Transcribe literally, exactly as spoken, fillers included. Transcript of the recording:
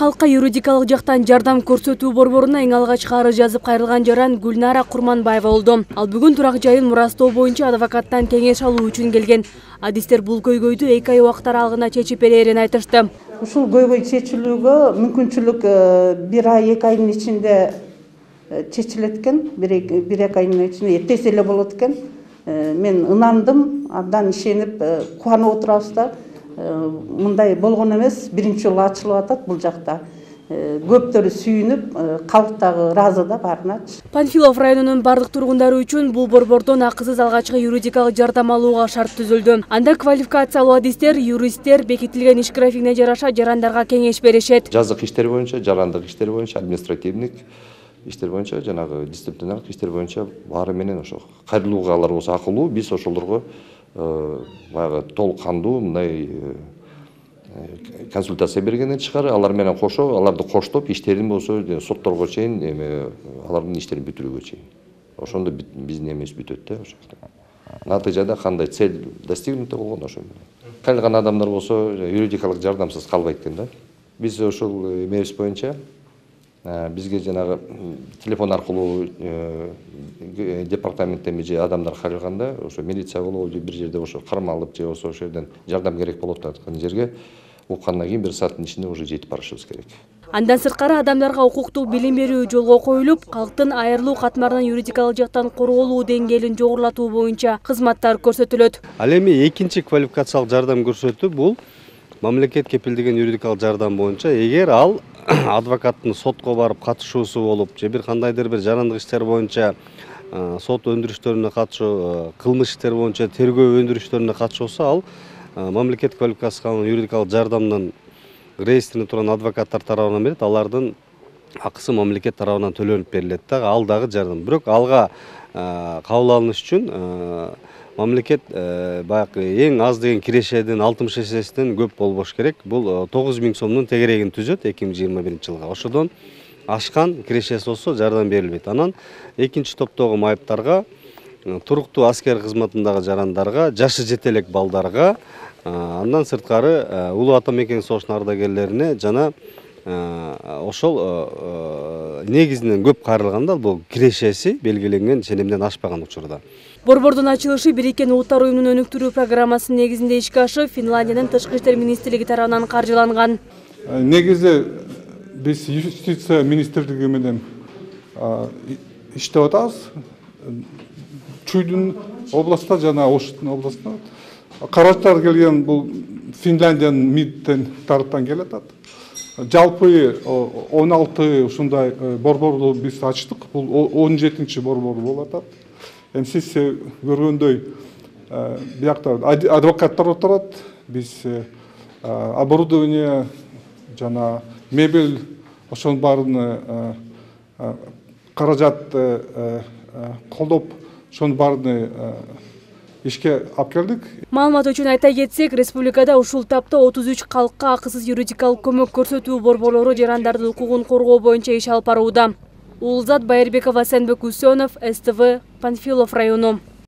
калкка юридикалык жактан жардам көрсөтүү борборуна эң алгач арыз жазып кайрылган жаран Гүлнара Курманбаева болду. Ал бүгүн турак жайын мурастоо боюнча адвокаттан кеңеш алуу үчүн келген. Адистер бул көйгөйдү эки ай убакыт аралыгында чечип берерин айтышты. Ушул көйгөй чечилүүгө мүмкүнчүлүк бир ай эки айдын ичинде чечилет экен. бир эки айдын ичинде тез эле болот экен. Мен ынандым, абдан ишенип кубанып отурабыз да. Мындай болгон эмес, биринчи жолу ачылып атат бул жакта. Көптөрү сүйүнүп, калк дагы ыраазы да баарыначы. Панфилов районунун бардык тургундары үчүн бул борбордон акысыз алгачкы юридикалык жардам алууга шарт түзүлдү. Анда квалификациялуу адистер, юристтер бекитилген иш графигине жараша жарандарга кеңеш беришет. Жазык иштер боюнча, жарандык иштер боюнча, административдик иштер боюнча, жанагы дисциплинардык иштер боюнча баары менен ошо кайрылуугалар болсо акылуу, биз ошолорго баягы толук кандуу мындай консультация бергенден тышкары алар менен кошо, аларды коштоп иштерин болсо сотторго чейин эме алардын иштерин бүтүрүүгө чейин. Ошондо биздин эмебиз бүтөт да ошо. Натыйжада кандай цель достигнута болгон ошо. Кайрылган адамдар болсо юридикалык жардамсыз калбайт экен да. Биз ошол эмебиз боюнча бизге жанагы телефон аркылуу департаменттен же адамдар кайрылганда ошо милиция болобу же бир жерде ошо кармалып же ошо жерден жардам керек болуп аткан жерге уккандан кийин бир сааттын ичинде уже жетип барышыбыз керек. Андан сырткары адамдарга укуктук билим берүү жолго коюлуп, калктын айрылуу катмарынан юридикалык жактан корголуу деңгээлин жогорулатуу боюнча кызматтар көрсөтүлөт. Ал эми экинчи квалификациялык жардам көрсөтүү бул мамлекет кепилдеген юридикалык жардам боюнча эгер ал адвокаттын сотко барып катышуусу болуп же бир кандайдыр бир жарандык иштер боюнча сот өндүрүштөрүнө катышуу, кылмыш иштер боюнча тергөө өндүрүштөрүнө катышса, ал мамлекет квалификациялык юридикалык жардамдын реестрине турган адвокаттар тарабынан берет, алардын акысы мамлекет тарабынан төлөнүп берилет да, ал дагы жардам. Бирок алга кабыл алыныш үчүн мамлекет баягы эң аз деген кирешеден алтымыш эсесинен көп болбош керек. Бул тогуз миң сомдун тегерегин түзөт эки миң жыйырма биринчи жылга. Ошодон ашкан кирешеси болсо жардам берилбейт. Анан экинчи топтогу майыптарга, туруктуу аскер кызматындагы жарандарга, жашы жете элек балдарга, андан сырткары улуу ата мекен согушунун ардагерлерине жана ошол негизинен көп кайрылганда бул кирешеси белгиленген ченемден ашпаган учурда. Борбордун ачылышы Бириккен Улуттар уюмунун өнүктүрүү программасынын негизинде ишке ашып, Финляндиянын тышкы иштер министрлиги тарабынан каржыланган. Негизи биз юстиция министрлиги менен иштеп атабыз. Чуйдун областта жана Оштун областында каражаттар келген бул Финляндиянын МИДтен тараптан келет. Жалпы он алты ушундай борборду биз ачтык. Бул он жетинчи борбор болуп атат. Эми сиз көргөндөй биякта адвокаттар отурат, биз оборудование жана мебель ошонун баарын каражат колдоп ошонун баарын ишке алып келдик. Маалымат үчүн айта кетсек, республикада ушул тапта отуз үч калкка акысыз юридикалык көмөк көрсөтүү борборлору жарандардын укугун коргоо боюнча иш алып барууда. Улзат Байырбекова, Сенбек Усенов, СТВ, Панфилов району.